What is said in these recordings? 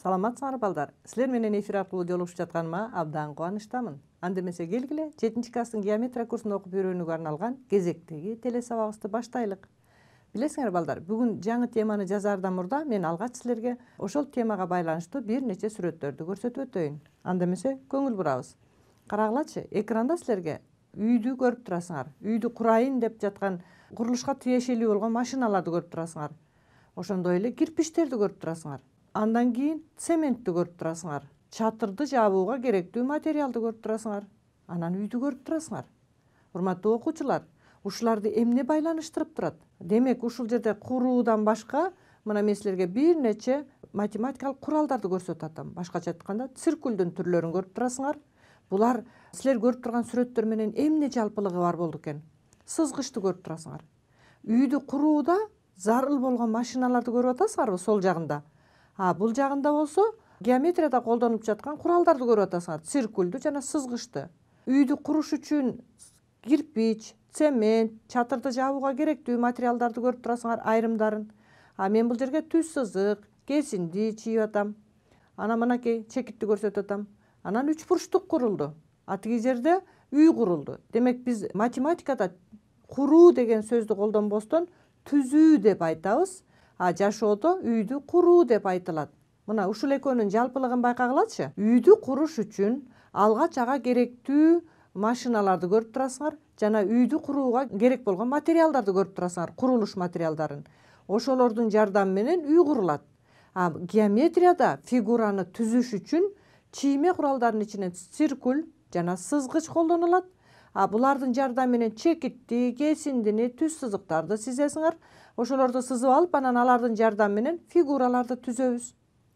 Саламатсыңар балдар. Силер менен эфир аркылуу жолугушуп жатканыма абдан кубанычтамын. Анда эмесе келгиле 7-класстын геометрия курсун окуп үйрөнүүгө арналган кезектеги телесабагыбызды баштайлык. Билесиңер балдар, бүгүн жаңы теманы жазаардан мурда мен алгач силерге ошол темага байланыштуу бир нече сүрөттөрдү көрсөтүп өтөйүн. Анда эмесе көңүл бурабыз. Карагылачы, экранда силерге үйдү көрүп турасыңар. Үйдү курайын деп жаткан курулушка тиешелүү болгон машиналарды көрүп турасыңар. Ошондой эле кирпичтерди көрүп турасыңар. Андан кийин цементти көрүп турасыңар. Чатырды жабууга керектүү материалды көрүп турасыңар. Анан үйдү көрүп турасыңар. Урматтуу окуучулар, ушуларды эмне байланыштырып турат? Демек, ушул жерде куруудан башка мына мен силерге бир нече математикалык куралдарды көрсөтүп атам. Башкача айтканда, циркулдун түрлөрүн көрүп турасыңар. Булар силер көрүп турган сүрөттөр менен эмне жалпылыгы бар болду экен? Сызгычты көрүп турасыңар. Үйдү курууда зарыл болгон машиналарды көрүп атасыңарбы сол жагында? Бул жагында болсо геометрияда колдонуп жаткан куралдарды көрүп атасыңар. Циркулду жана сызгычты. Үйдү куруш үчүн кирпич, цемент, чатырды жабууга керектүү материалдарды көрүп турасыңар, айрымдарын. Мен бул жерге түз сызык, кесинди чийип атам. Анан мынакей чекитти көрсөтүп атам. Анан 3 бурчтук курулду. Тиги жерде үй курулду. Демек, биз математикада куруу деген сөздү колдонбостон түзүү деп айтабыз. Жашоодо үйдү куруу деп айтылат. Мына ушул экөөнүн жалпылыгын байкагылачы. Үйдү куруш үчүн алгач ага керектүү машиналарды көрүп турасыңар жана үйдү курууга керек болгон материалдарды көрүп турасыңар, курулуш материалдарын. Ошолордун жардамы менен үй курулат. Геометрияда фигураны түзүш үчүн чийме куралдарынын ичинен циркуль жана сызгыч колдонулат. Булардын жардамы менен чекитти, кесиндини, түз сызыктарды сизесиңер. Ошолорду сызып алып, анан алардын жардамы менен фигураларды түзөбүз.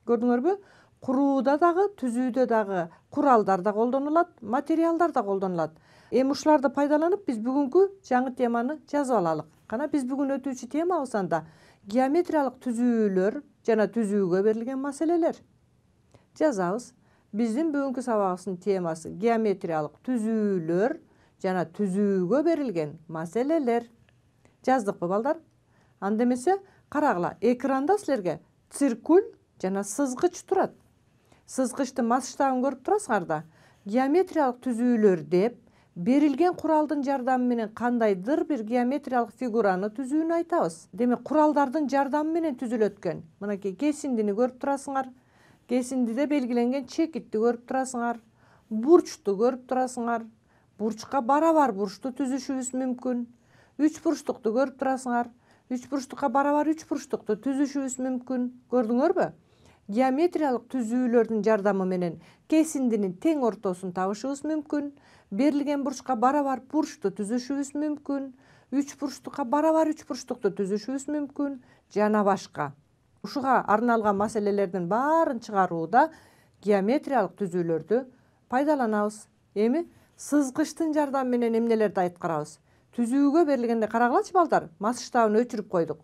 Көрдүңөрбү? Курууда дагы, түзүүдө дагы куралдар да колдонулат, материалдар да колдонулат. Эми ушуларды пайдаланып биз бүгүнкү жаңы теманы жазып алалык. Кана биз бүгүн өтүүчү темабыз анда геометриялык түзүүлөр жана түзүүгө берилген маселелер. Жазабыз. Биздин бүгүнкү сабагыбыздын темасы геометриялык түзүүлөр жана түзүүгө берилген маселелер. Жаздыкпы, балдар? Анда эмесе карагыла, экранда силерге циркуль жана сызгыч турат. Сызгычтын масштабын көрүп турасыңар да. Геометриялык түзүүлөр деп берилген куралдын жардамы менен кандайдыр бир геометриялык фигураны түзүүнү айтабыз. Демек, куралдардын жардамы менен түзүлөт экен. Мынакей кесиндини көрүп турасыңар. Кесиндиде белгиленген чекитти көрүп турасыңар. Бурчту көрүп турасыңар. Бурчка барабар бурчту түзүшүбүз мүмкүн. 3 бурчтукту көрүп турасыңар. 3 бурчтукка барабар 3 бурчтукту түзүшүбүз мүмкүн. Көрдүңөрбү? Геометриялык түзүүлөрдүн жардамы менен кесиндинин тең ортосун табышыбыз мүмкүн. Берилген бурчка барабар бурчту түзүшүбүз мүмкүн. 3 бурчтукка барабар 3 бурчтукту түзүшүбүз мүмкүн. Жана башка. Ушуга арналган маселелердин баарын чыгарууда геометриялык түзүүлөрдү пайдаланабыз. Эми сызгычтын жардамы менен эмнелерди аткарабыз? Түзүүгө берилгенде карагылачы балдар, масштабын өчүрүп койдук.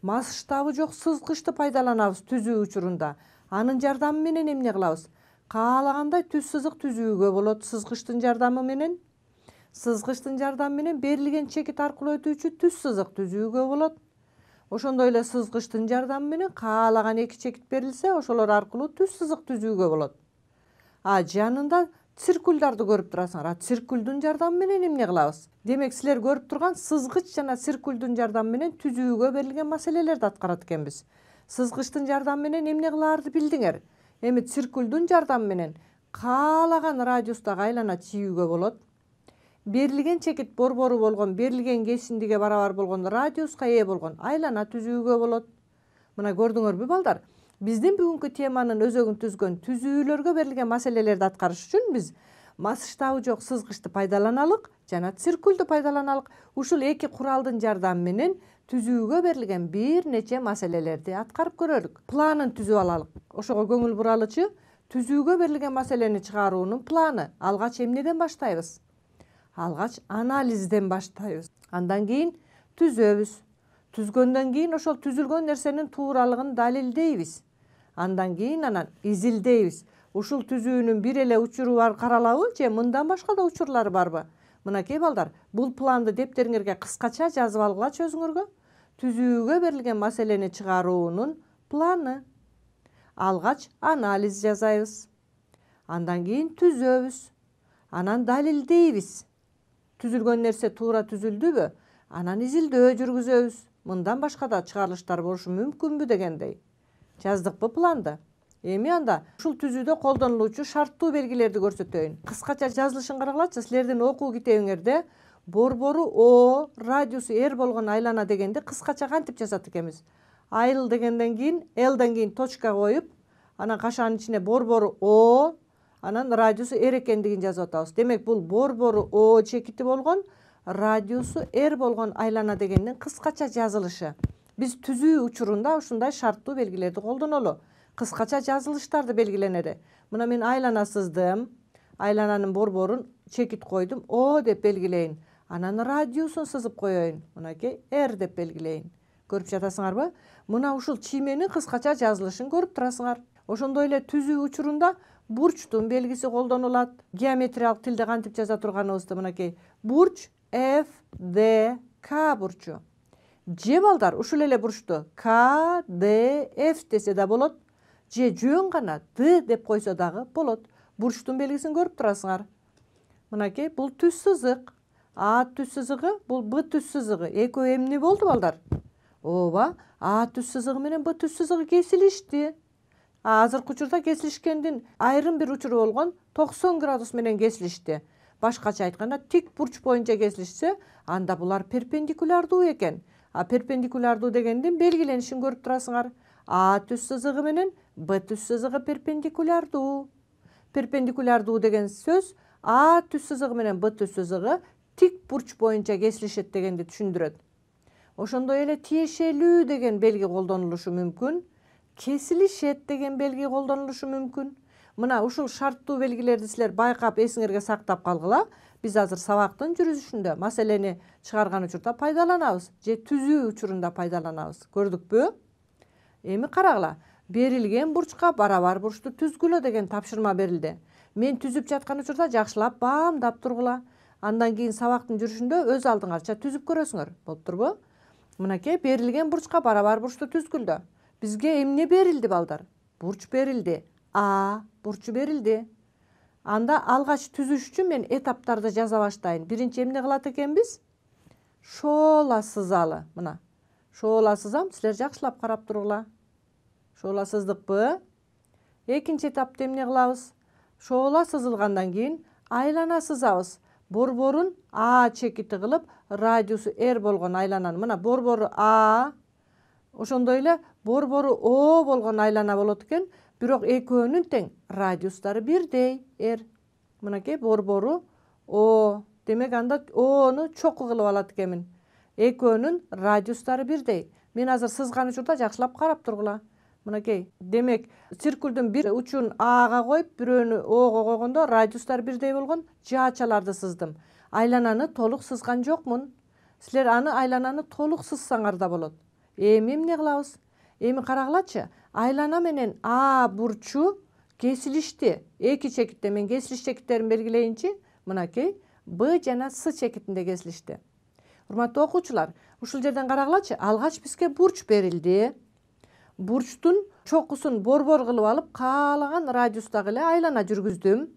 Масштабы жок сызгычты пайдаланабыз түзүү учурунда. Анын жардамы менен эмне кылабыз? Каалагандай түз сызык түзүүгө болот сызгычтын жардамы менен. Сызгычтын жардамы менен берилген чекит аркылуу өтүүчү түз сызык түзүүгө болот. Ошондой эле сызгычтын жардамы менен каалаган 2 чекит берилсе, ошолор аркылуу түз сызык түзүүгө болот. Жанында циркулдарды көрүп турасыңар. Циркулдун жардамы менен эмне кылабыз? Демек, силер көрүп турган сызгыч жана циркулдун жардамы менен түзүүгө берилген маселелерди аткарат экенбиз. Сызгычтын жардамы менен эмне кылаарды билдиңер. Эми циркулдун жардамы менен каалаган радиустагы айлана чийүүгө болот. Берилген чекит борбору болгон, берилген кесиндиге барабар болгон радиуска ээ болгон айлана түзүүгө болот. Мына көрдүңөрбү, балдар? Биздин бүгүнкү теманын өзөгүн түзгөн түзүүлөргө берилген маселелерди аткарыш үчүн биз масштабы жок сызгычты пайдаланалык жана циркулду пайдаланалык. Ушул 2 куралдын жардамы менен түзүүгө берилген бир нече маселелерди аткарып көрөлүк. Планын түзүп алалык. Ошого көңүл буралычы. Түзүүгө берилген маселени чыгаруунун планы. Алгач эмнеден баштайбыз? Алгач анализден баштайбыз. Андан кийин түзөбүз. Түзгөндөн кийин ошол түзүлгөн нерсенин тууралыгын далилдейбиз. Андан кийин изилдейбиз. Ушул түзүүнүн бир эле учуру бар каралабы же мындан башка да учурлары барбы? Мынакей балдар, бул планды дептериңерге кыскача жазып алгылачы өзүңөргө. Түзүүгө берилген маселени чыгаруунун планы. алгач анализ жасайбыз. Андан кийин түзөбүз. Анан далилдейбиз. Түзүлгөн нерсе туура түзүлдүбү? Анан изилдөө жүргүзөбүз. Мындан башка да чыгарылыштар болушу мүмкүнбү дегендей. Жаздыкпы планды? Эми анда ушул түзүүдө колдонулуучу шарттуу белгилерди көрсөтөйүн. Кыскача жазылышын карагылачы. Силердин окуу китебиңерде борбору О, радиусу R болгон айлана дегенди кыскача кантип жазат экенбиз? Айыл дегенден кийин L'дан кийин точка коюп, анан кашанын ичине борбору О, анан радиусу R экендигин жазып атабыз. Демек бул борбору О чекити болгон, радиусу R болгон айлана дегендин кыскача жазылышы. Биз түзүү учурунда ушундай шарттуу белгилерди колдонолу. Кыскача жазылыштарды белгиленеди. Мына мен айлана сыздым. Айлананын борборун чекит койдум. О деп белгилейин. Анан радиусун сызып коеюн. Мынакей R деп белгилейин. Көрүп жатасыңарбы? Мына ушул чийменин кыскача жазылышын көрүп турасыңар. Ошондой эле түзүү учурунда бурчтун белгиси колдонулат. Геометриялык тилде кантип жаза турганыбызды мынакей. Бурч F, D, K бурчу. Же балдар ушул эле бурчту K, D, F десе да болот. Же жөн гана D деп койсо дагы болот. Бурчтун белгисин көрүп турасыңар. Мынакей бул түз сызык. А түз сызыгы, бул Б түз сызыгы. Экөө эмне болду балдар? Ооба, А түз сызыгы менен Б түз сызыгы кесилишти. Азыркы учурда кесилишкендин айрым бир учуру болгон 90 градус менен кесилишти. Башкача айтканда тик бурч боюнча кесилишсе, анда булар перпендикулярдуу экен. А перпендикулярдуу дегендин белгиленишин көрүп турасыңар. А түз сызыгы менен Б түз сызыгы перпендикулярдуу. Перпендикулярдуу деген сөз А түз сызыгы менен Б түз сызыгы тик бурч боюнча кесилишет дегенди түшүндүрөт. Ошондой эле тиешелүү деген белги колдонулушу мүмкүн. Кесилишет деген белги колдонулушу мүмкүн. Мына ушул шарттуу белгилерди силер байкап эсиңерге сактап калгыла. Биз азыр сабактын жүрүшүндө маселени чыгарган учурда пайдаланабыз же түзүү учурунда пайдаланабыз. Көрдүкпү? Эми карагыла. Берилген бурчка барабар бурчту түзгүлө деген тапшырма берилди. Мен түзүп жаткан учурда жакшылап баамдап тургула. Андан кийин сабактын жүрүшүндө өз алдыңарча түзүп көрөсүңөр. Болуп турбу? Мынакей берилген бурчка барабар бурчту түзгүлдө. Бизге эмне берилди балдар? Бурч берилди. А бурчу берилди. Анда алгач түзүш үчүн мен этаптарды жаза баштайын. Биринчи эмне кылат экенбиз? Шоола сызалы. Мына. Шоола сызам, силер жакшылап карап тургула. Шоола сыздыкпы? Экинчи этапта эмне кылабыз? Шоола сызылгандан кийин айлана сызабыз. Борборун А чекити кылып, радиусу R болгон айлананы. Мына борбору А, ошондой эле борбору О болгон айлана болот экен. Бирок экөөнүн тең радиустары бирдей R. Мынакей борбору О. Демек анда О'ну чокуу кылып алат экенмин. Экөөнүн радиустары бирдей. Мен азыр сызган учурда жакшылап карап тургула. Мынакей. Демек, циркулдун бир учун Ага коюп, бирөөнү Ого койгондо радиустар бирдей болгон жаачаларды сыздым. Айлананы толук сызган жокмун. Силер айлананы толук сызсаңар да болот. Эми эмне кылабыз? Эми карагылачы. Айлана менен А бурчу кесилишти. Эки чекитте мен кесилиш чекиттерин белгилейинчи. Мынакей Б жана С чекитинде кесилишти. Урматтуу окуучулар, ушул жерден карагылачы. Алгач бизге бурч берилди. Бурчтун чокусун борбор кылып алып, каалаган радиустагы эле айлана жүргүздүм.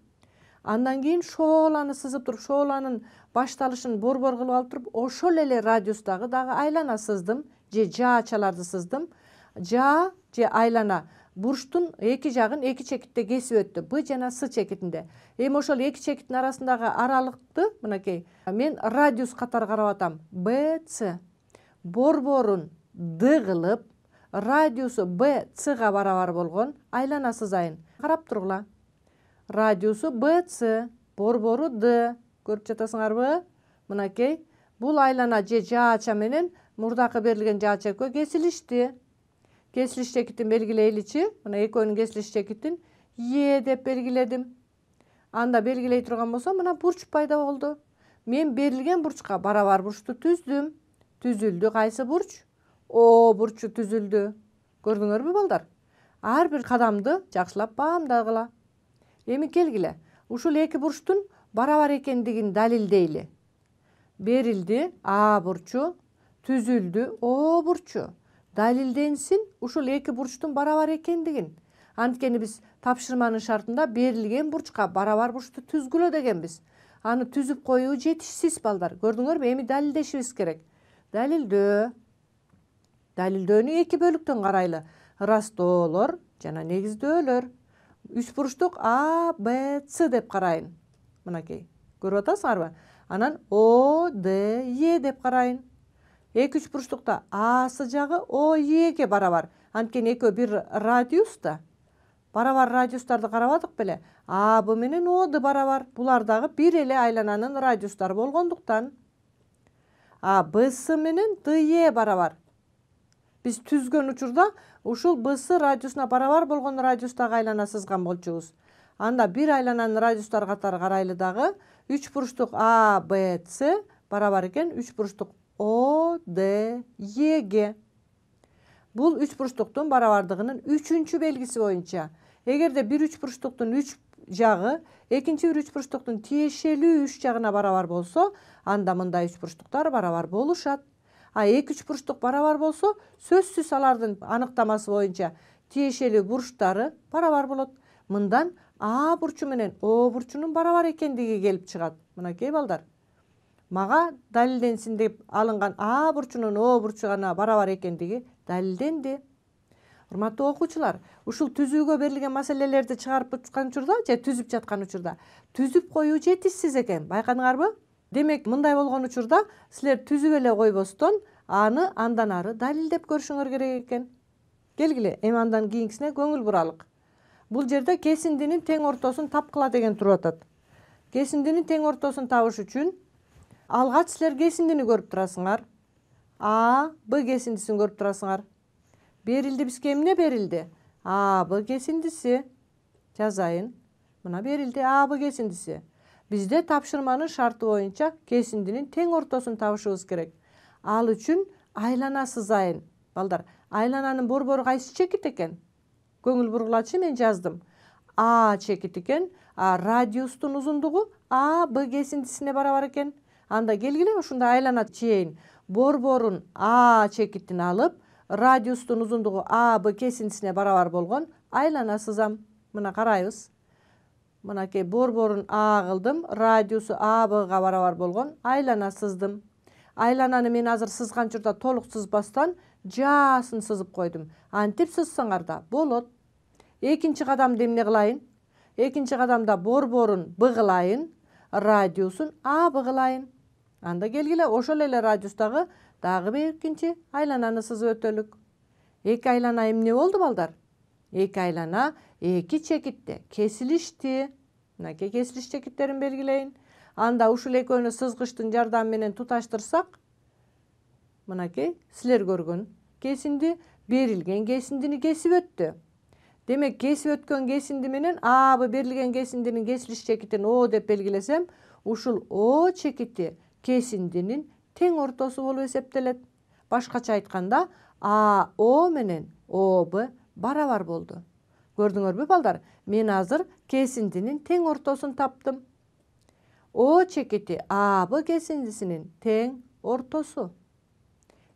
Андан кийин шооланы сызып туруп, шооланын башталышын борбор кылып алып туруп, ошол эле радиустагы дагы айлана сыздым, же жаачаларды сыздым. Жаа же айлана бурчтун эки жагын эки чекитте кесип өттү. Б жана С чекитинде. Эми ошол эки чекиттин арасындагы аралыкты мынакей мен радиус катары карап атам. Б, С. Борборун Д кылып, радиусу Б, С-га барабар болгон айлана сызайын. Карап тургула. Радиусу Б, С, борбору Д. Көрүп жатасыңарбы? Мынакей бул айлана же жаача менен мурдакы берилген жаача экөө кесилишти. Кесилиш чекитин белгилейличи. Мына экөөнүн кесилиш чекитин Е деп белгиледим. Анда белгилей турган болсом, мына бурч пайда болду. Мен берилген бурчка барабар бурчту түздүм. Түзүлдү кайсы бурч? О бурчу түзүлдү. Көрдүңөрбү балдар? Ар бир кадамды жакшылап баамдагыла. Эми келгиле. Ушул эки бурчтун барабар экендигин далилдейли. Берилди А бурчу, түзүлдү О бурчу. Далилденсин ушул эки бурчтун барабар экендигин. Анткени биз тапшырманын шартында берилген бурчка барабар бурчту түзгүлө дегенбиз. Аны түзүп коюу жетишсиз балдар. Көрдүңөрбү? Эми далилдешибиз керек. Далилдөө. Далилдөөнү эки бөлүктөн карайлы. Ырастоолор жана негиздөөлөр. Үч бурчтук А, Б, С деп карайын. Мынакей. Көрүп атасыңарбы? Анан О, Д, Е деп карайын. Эки үч бурчтукта Асы жагы О, Эге барабар. Анткени экөө бир радиуста. Барабар радиустарды карабадык беле? А, Б менен О, Д барабар. Булар дагы бир эле айлананын радиустары болгондуктан. А, Б, С менен Д, Е барабар. Биз түзгөн учурда ушул Б, С радиусуна барабар болгон радиустагы айлана сызган болчубуз. Анда бир айлананын радиустары катары карайлы дагы. Үч бурчтук А, Б, С барабар экен үч бурчтук О, Д, Эге. Бул үч бурчтуктун барабардыгынын үчүнчү белгиси боюнча. Эгерде бир үч бурчтуктун үч жагы экинчи бир үч бурчтуктун тиешелүү үч жагына барабар болсо, анда мындай үч бурчтуктар барабар болушат. А эки үч бурчтук барабар болсо, сөзсүз алардын аныктамасы боюнча тиешелүү бурчтары барабар болот. Мындан А бурчу менен О бурчунун барабар экендиги келип чыгат. Мынакей балдар. Мага далилденсин деп алынган А бурчунун О бурчуна барабар экендиги далилденди. Урматтуу окуучулар, ушул түзүүгө берилген маселелерди чыгарып аткан учурда же түзүп жаткан учурда түзүп коюу жетишсиз экен. Байкадыңарбы? Демек, мындай болгон учурда силер түзүп эле койбостон, аны андан ары далилдеп көрүшүңөр керек экен. Келгиле, эми андан кийинкисине көңүл буралык. Бул жерде кесиндинин тең ортосун тапкыла деген туруп атат. Кесиндинин тең ортосун табыш үчүн алгач силер кесиндини көрүп турасыңар. А, Б кесиндисин көрүп турасыңар. Берилди бизге эмне берилди? А, Б кесиндиси. Жазайын. Мына берилди А, Б кесиндиси. Бизде тапшырманын шарты боюнча кесиндинин тең ортосун табышыбыз керек. Ал үчүн айлана сызайын. Балдар, айлананын борбору кайсы чекит экен? Көңүл бургулачы, мен жаздым. А чекит экен, а радиустун узундугу А, Б кесиндисине барабар экен. Анда келгиле ушундай айлана чейин. Борборун А чекитин алып, радиустун узундугу А, Б кесиндисине барабар болгон айлана сызам. Мына карайбыз. Мынакей борборун А кылдым, радиусу А, Бга барабар болгон айлана сыздым. Айлананы мен азыр сызган учурда толук сызбастан жаасын сызып койдум. Антип сызсаңар да болот. Экинчи кадамда эмне кылайын? Экинчи кадамда борборун Б кылайын, радиусун А, Б кылайын. Анда келгиле ошол эле радиустагы дагы бир экинчи айлананы сызып өтөлүк. Эки айлана эмне болду, балдар? Эки айлана эки чекитте кесилишти. Мынакей кесилиш чекиттерин белгилейин. Анда ушул экөөнү сызгычтын жардамы менен туташтырсак, мынакей силер көргөн кесинди берилген кесиндини кесип өттү. Демек, кесип өткөн кесинди менен А, Б берилген кесиндинин кесилиш чекитин О деп белгилесем, ушул О чекити кесиндинин тең ортосу болуп эсептелет. Башкача айтканда, А, О менен О, Б барабар болду. Көрдүңөрбү, балдар? Мен азыр кесиндинин тең ортосун таптым. О чекити А, Б кесиндисинин тең ортосу.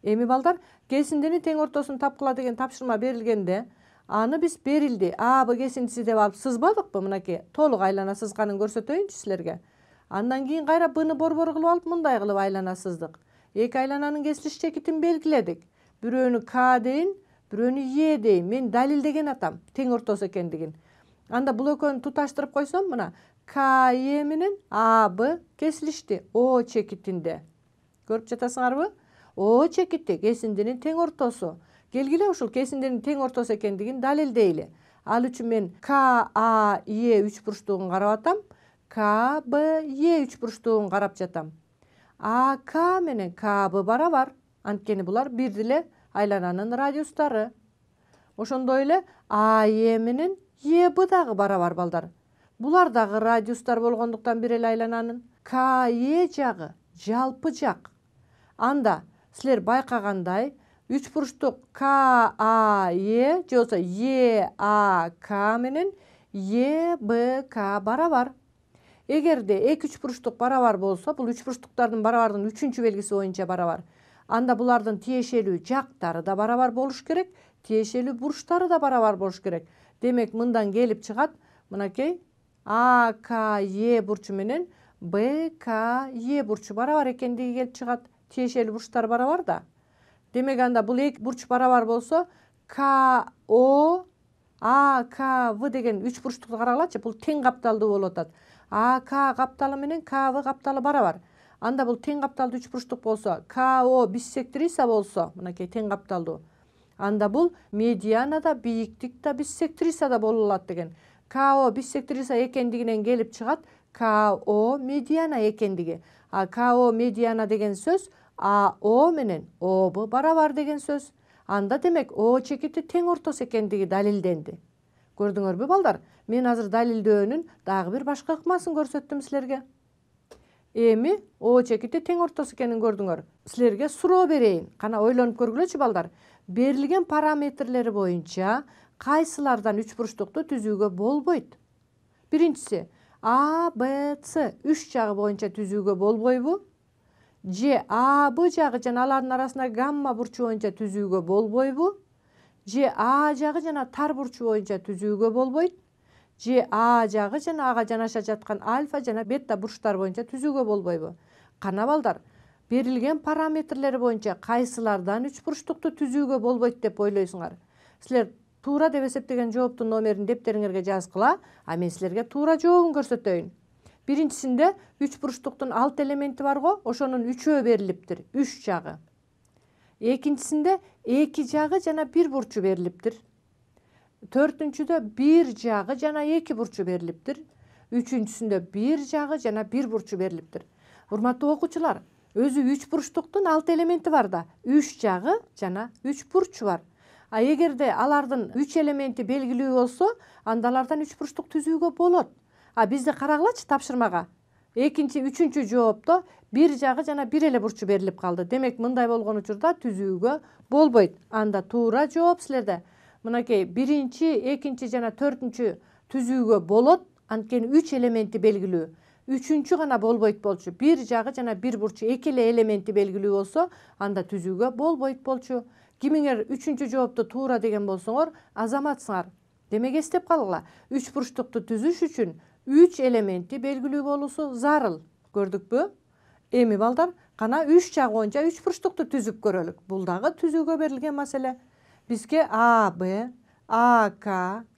Эми, балдар, кесиндинин тең ортосун тапкыла деген тапшырма берилгенде, аны биз берилди А, Б кесиндиси деп алып сызбадыкпы? Мынакей толук айлана сызганын көрсөтөйүнчү силерге. Андан кийин кайра Бны борбор кылып алып мындай кылып айлана сыздык. Эки айлананын кесилиш чекитин белгиледик. Бирөөнү К дейин, бирөөнү Е дейин. Мен далилдеген атам тең ортосу экендигин. Анда бул экөөнү туташтырып койсом, мына К, Е менен А, Б кесилишти О чекитинде. Көрүп жатасыңарбы? О чекити кесиндинин тең ортосу. Келгиле ушул кесиндинин тең ортосу экендигин далилдейли. Ал үчүн мен К, А, Е үч бурчтугун карап атам. К, Б, Е үч бурчтугун карап жатам. А, К менен К, Б барабар. Анткени булар бир эле айлананын радиустары. Ошондой эле А, Е менен Е, Б дагы барабар, балдар. Булар дагы радиустар болгондуктан бир эле айлананын. К, Е жагы жалпы жак. Анда силер байкагандай, үч бурчтук К, А, Е же болбосо Е, А, К менен Е, Б, К барабар. Эгерде эки үч бурчтук барабар болсо, бул үч бурчтуктардын барабардын үчүнчү белгиси боюнча барабар. Анда булардын тиешелүү жактары да барабар болуш керек, тиешелүү бурчтары да барабар болуш керек. Демек мындан келип чыгат мынакей АКЕ бурчу менен БКЕ бурчу барабар экендиги келип чыгат. Тиешелүү бурчтар барабар да. Демек анда бул эки бурч барабар болсо КО АКВ деген 3 бурчтукту карагылачы. Бул тең капталдуу болуп атат. АК капталы менен КВ капталы барабар. Анда бул тең капталдуу 3 бурчтук болсо, КО биссектриса болсо, мынакей тең капталдуу. Анда бул медиана да, бийиктик да, биссектриса да боло алат деген. КО биссектриса экендигинен келип чыгат КО медиана экендиги. А КО медиана деген сөз АО менен ОБ барабар деген сөз. Анда демек О чекити тең ортосу экендиги далилденди. Көрдүңөрбү балдар? Мен азыр далилдөөнүн дагы бир башка ыкмасын көрсөттүм силерге. Эми О чекити тең ортосу экенин көрдүңөр. Силерге суроо берейин. Кана ойлонуп көргүлөчү балдар. Берилген параметрлери боюнча кайсылардан 3 бурчтукту түзүүгө болбойт? Биринчиси А, Б, С 3 жагы боюнча түзүүгө болбойбу? Же А, Б жагы жана алардын арасында гамма бурчу боюнча түзүүгө болбойбу? Же А жагы жана тар бурчу боюнча түзүүгө болбойт? Же А жагы жана ага жанаша жаткан альфа жана бета бурчтар боюнча түзүүгө болбойбу? Кана балдар, берилген параметрлери боюнча кайсылардан 3 бурчтукту түзүүгө болбойт деп ойлойсуңар? Силер туура деп эсептеген жооптун номерин дептериңерге жазгыла, а мен силерге туура жообун көрсөтөйүн. Биринчисинде 3 бурчтуктун 6 элементи бар го, ошонун 3-өө берилиптир, 3 жагы. Экинчисинде 2 жагы жана 1 бурчу берилиптир. Төртүнчүдө 1 жагы жана 2 бурчу берилиптир. Үчүнчүсүндө 1 жагы жана 1 бурчу берилиптир. Урматтуу окуучулар, өзү 3 бурчтуктун 6 элементи бар да, 3 жагы жана 3 бурчу бар. А эгерде алардын 3 элементи белгилүү болсо, анда алардан 3 бурчтук түзүүгө болот. А бизде карагылачы тапшырмага. Экинчи, үчүнчү жоопто 1 жагы жана 1 эле бурчу берилип калды. Демек мындай болгон учурда түзүүгө болбойт. Анда туура жооп силерде. Мынакей биринчи, экинчи жана төртүнчү түзүүгө болот, анткени 3 элементи белгилүү. Үчүнчү гана болбойт болчу. 1 жагы жана 1 бурчу 2 эле элементи белгилүү болсо, анда түзүүгө болбойт болчу. Кимиңер үчүнчү жоопту туура деген болсоңор, азаматсыңар. Демек эстеп калгыла. 3 бурчтукту түзүш үчүн 3 элементи белгилүү болуусу зарыл. Көрдүкпү? Эми балдар, кана 3 жагы боюнча 3 бурчтукту түзүп көрөлүк. Бул дагы түзүүгө берилген маселе. Бизге А, Б, АК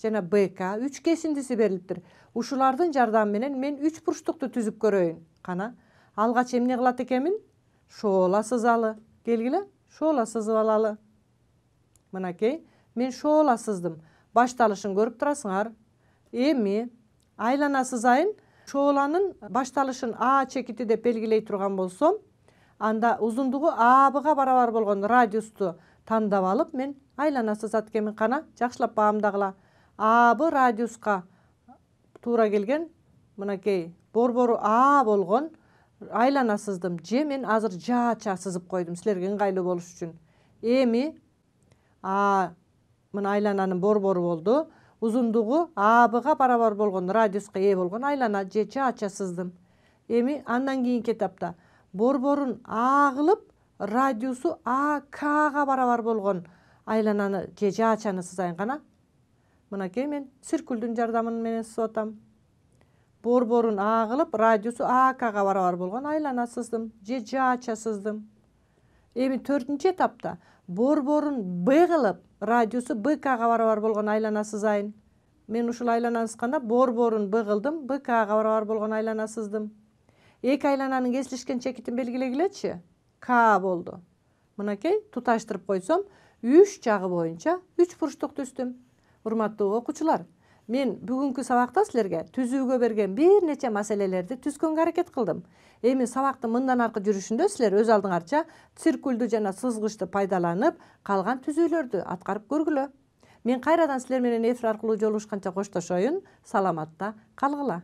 жана БК 3 кесиндиси берилиптир. Ушулардын жардамы менен мен 3 бурчтукту түзүп көрөйүн. Кана, алгач эмне кылат экенмин? Шоола сызалы. Келгиле, шоола сызып алалы. Мынакей, мен шоола сыздым. Башталышын көрүп турасыңар. Эми айлана сызайын. Шооланын башталышын А чекити деп белгилей турган болсом, анда узундугу АБга барабар болгон радиусту тандап алып, мен айлана сызат экенмин. Кана, жакшылап баамдагыла. АБ радиуска туура келген, мынакей, борбору А болгон айлана сыздым. Же мен азыр жаача сызып койдум силерге ыңгайлуу болуш үчүн. Эми мына айлананын борбору болду. Узундугу АБга барабар болгон радиуска ээ болгон айлана же жаача сыздым. Эми андан кийинки этапта борборун А кылып, радиусу АКга барабар болгон айлананы же жаачаны сызайын. Кана, мынакей мен циркулдун жардамы менен сызып атам. Борборун А кылып, радиусу АКга барабар болгон айлана сыздым же жаача сыздым. Эми төртүнчү этапта борборун Б кылып, радиусу БКга барабар болгон айлана сызайын. Мен ушул айлананы сызганда борборун Б кылдым, БКга барабар болгон айлана сыздым. Эки айлананын кесилишкен чекитин белгилегилечи. К болду. Мынакей, туташтырып койсом, 3 жагы боюнча 3 бурчтук түздүм. Урматтуу окуучулар, мен бүгүнкү сабакта силерге түзүүгө берген бир нече маселелерди түзгөнгө аракет кылдым. Эми сабактын мындан аркы жүрүшүндө силер өз алдыңарча циркулду жана сызгычты пайдаланып, калган түзүүлөрдү аткарып көргүлө. Мен кайрадан силер менен эфир аркылуу жолугушканча коштошоюн. Саламатта калгыла.